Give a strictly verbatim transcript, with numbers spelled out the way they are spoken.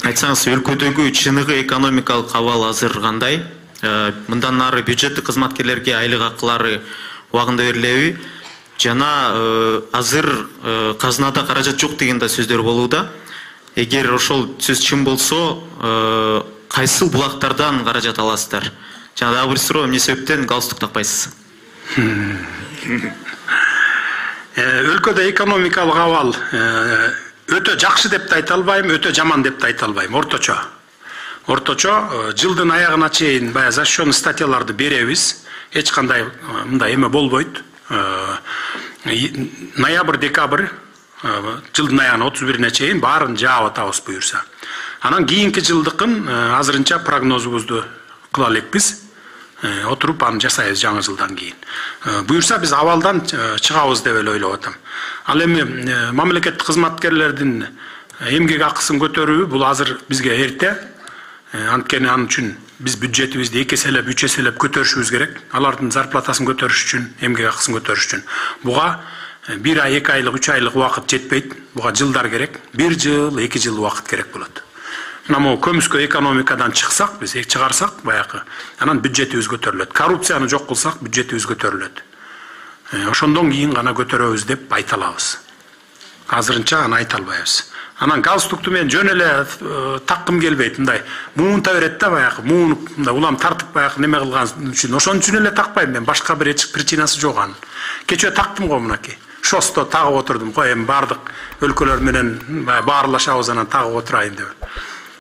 айтсаңыз, өлкөдөгү чыныгы экономикалык абал азыр кандай? Мындан нары бюджеттик кызматкерлерге айлык акылары убагында берилеби? Жана азыр казынада каражат жок деген да сөздөр болууда. Эгер ошол сөз чын болсо, кайсыл булактардан каражат аласыздар? Жана дагы бир суроо, эмне себептен галстук такпайсыз? Өлкөдө экономикалык абал өтө жакшы деп да айта албайм, өтө жаман деп да айта албайм, орточо. Орточо жылдын аягына чейин баягы защищенный статьяларды беребиз. Эч кандай мындай эме болбойт. Ноябрь, декабрь жылдын аягына отуз бирине чейин баарын жаап атабыз буюрса. Анан кийинки жылдыкын азырынча прогнозубузду кыла элекпиз. Отуруп аны жасайбыз жаңы жылдан кийин. Буюрса биз абалдан чыгабыз деп эле ойлоп атам. Ал эми мамлекеттик кызматкерлердин эмгек акысын көтөрүү бул азыр бизге эрте. Анткени анын үчүн биз бюджетибизди эки эселеп, үч эселеп көтөрүшүбүз керек. Алардын зарплатасын көтөрүш үчүн, эмгек акысын көтөрүш үчүн. Буга бир ай, эки айлык, үч айлык убакыт жетпейт. Буга жылдар керек. бир жыл, эки жыл убакыт керек болот. Мына могу көмүскө экономикадан чыксак, биз чыгарсак баягы, анан бюджетибиз көтөрүлөт. Коррупцияны жок кылсак, бюджетибиз көтөрүлөт. Ошондон кийин гана көтөрөбүз деп айта алабыз. Азырынча аны айта албайбыз. Анан галстукту мен жөн эле таккым келбейт, мындай муунта берет да баягы, муунуп мындай улам тартып баягы неме кылган үчүн. Ошон үчүн эле такпайм мен, башка бир эч причинасы жок анын. Кечээ тактым го мынакей. Шосто тагып отурдум го, эми бардык өлкөлөр менен баарлашабыз, анан тагып отурайын деп.